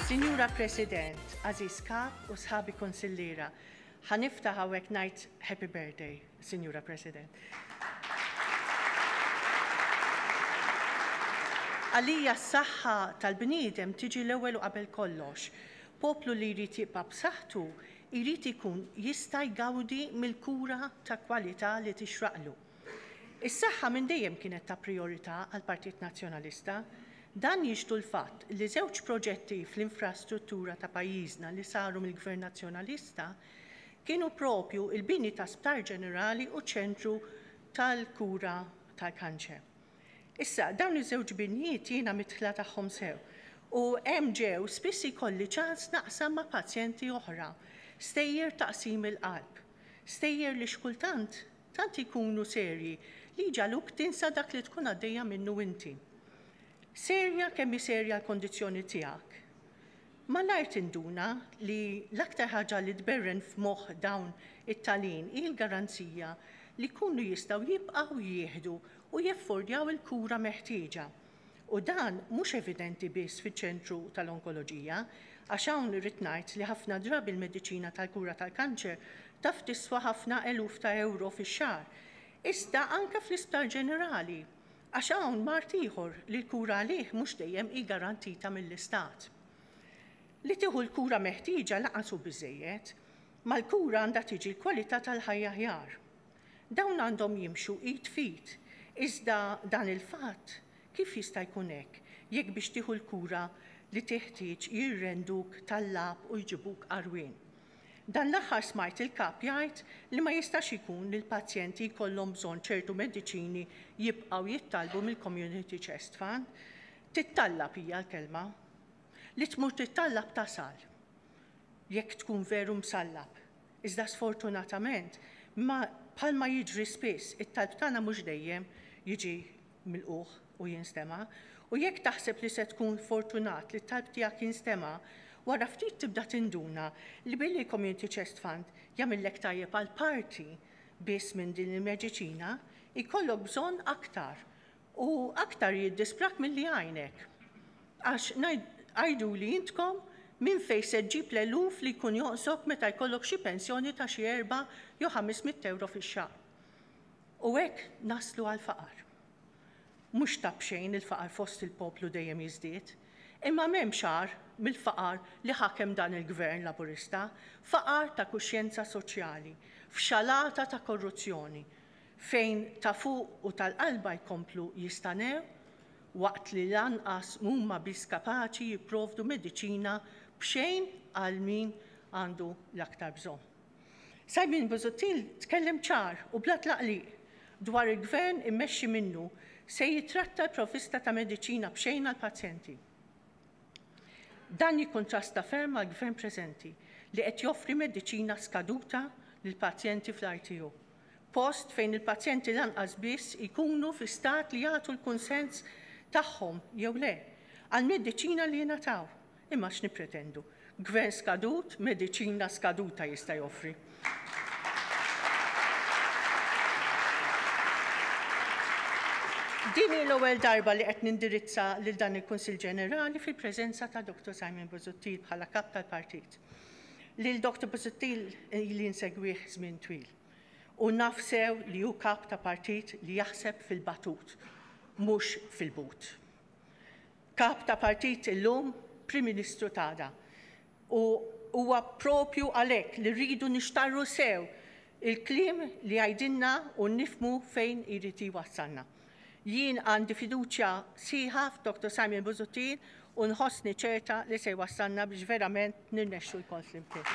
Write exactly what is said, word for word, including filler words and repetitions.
Sinjura President, għażiż Kap u sħabi konsilliera, ħa niftaħ hawnhekk ngħid Happy Birthday, Sinjura President. Għalija s-saħħa tal-bniedem tiġi l-ewwel u qabel kollox. Poplu li jrid jibqa' b'saħħtu jrid ikun jista' jgawdi mill-kura ta' kwalità li tixraqlu. Is-saħħa minn dejjem kienet ta' priorità għall-Partit Nazzjonalista. Dan jixhdu l-fatt li żewġ proġetti fl-infrastruttura ta' pajjiżna li saru mill-Gvern Nazzjonalista kienu propju il-bini ta' Sptar Ġenerali u ċentru tal-kura tal-kanċer. Issa, dawn iż-żewġ binjiet jiena midħla tagħhom sew u hemm ġew spiss ikolli ċans naqsam ma' pazjenti oħra, stejjer ta' qsim il-qalb, stejjer li xkultant tant ikunu serji li jġagħluk tinsa dak li tkun għaddejja minnu inti. Serja kemm hi serja l-kondizzjoni tiegħek. Malajr tinduna li l-aktar ħaġa li tberren f'moħħ dawn it-talin hi l-garanzija li jkunu jistgħu jibqgħu jieħdu u jeffordjaw il-kura meħtieġa. U dan mhux evidenti biss fiċ-ċentru tal-onkoloġija, għax hawn irrid ngħid li ħafna drabi l-mediċina tal-kura tal-kanċer taf tiswa ħafna eluf ta' euro fix-xahar. Iżda anke fl-Isptar Ġenerali, għax hawn mard ieħor li l-kura għalih mhux dejjem hi garantita mill-Istat. Li tieħu l-kura meħtieġa lanqas hu biżejjed, mal-kura għandha tiġi l-kwalità tal-ħajja aħjar. Dawn għandhom jimxu id f'id, iżda dan il-fatt kif jista' jkun hekk jekk biex tieħu l-kura li teħtieġ jirrenduk tallab u jġibuk għarwien. Dan l-aħħar smajt il-kap jgħid li ma jistax ikun li l-pazjenti jkollhom bżonn ċertu mediċini jibqgħu jittalbu mill-Community Chest Fund. Tittallab hija l-kelma. Li tmur tittallab tasal, jekk tkun veru msallab. Iżda sfortunatament, ma bħalma jiġri spiss, it-talb tagħna mhux dejjem jiġi milqugħ u jinstema'. U jekk taħseb li se tkun fortunat li t-talb tiegħek jinstema', wara ftit tibda tinduna li billi Community Chest Fund jagħmillek tajjeb għal parti biss minn din il-mediċina, ikollok bżonn aktar u aktar jiddisprak milli jgħinek. Għax għidu li intkom minn fejn se ġġib l-eluf li jkun jonqsok meta jkollok xi pensjoni ta' xi erba' jew ħames mitt euro fix-xahar. U hekk naslu għal faqar. Mhux ta' b'xejn il-faqar fost il-poplu dejjem jiżdied, imma m'hemmx agħar mill-faqar li ħakem dan il-gvern laburista, faqar ta' kuxjenza soċjali, fxalata ta' korruzzjoni, fejn ta' fuq u tal-qalba jkomplu jistanew waqt li lanqas huma biss kapaċi jipprovdu mediċina b'xejn għal min għandu l-aktar bżonn. Simon Busuttil tkellem ċar u bla tlaqliq dwar il-gvern immexxi minnu se jitratta l-provvista ta' mediċina b'xejn għall-pazjenti. Dan jikkontrasta ferm mal-gvern preżenti li qed joffri mediċina skaduta lill-pazjenti fl-I T U. Post fejn il-pazjenti lanqas biss ikunu fi stat li jagħtu l-kunsens tagħhom jew le għal-mediċina li jingħataw. Imma x'nippretendu? Gvern skadut, mediċina skaduta jista' joffri. Din hi l-ewwel darba li qed nindirizza lil dan il-Kunsill Ġenerali fil-preżenza ta' Doktor Simon Busuttil bħala kap tal-partit. Lil Doktor Busuttil li nsegwih żmien twil. U naf sew li hu kap ta' partit li jaħseb fil-batut, mhux fil-but. Kap ta' partit illum, Prim Ministru t'għada. U huwa propju għalhekk li rridu nixtarru sew il-kliem li għajdinna u nifmu fejn irid jwassalna. Jien għandi fiduċja sħiħa f'Doktor Simon Busuttil u nħossni ċerta li se jwassalna biex verament nirnexxu lkoll flimkien.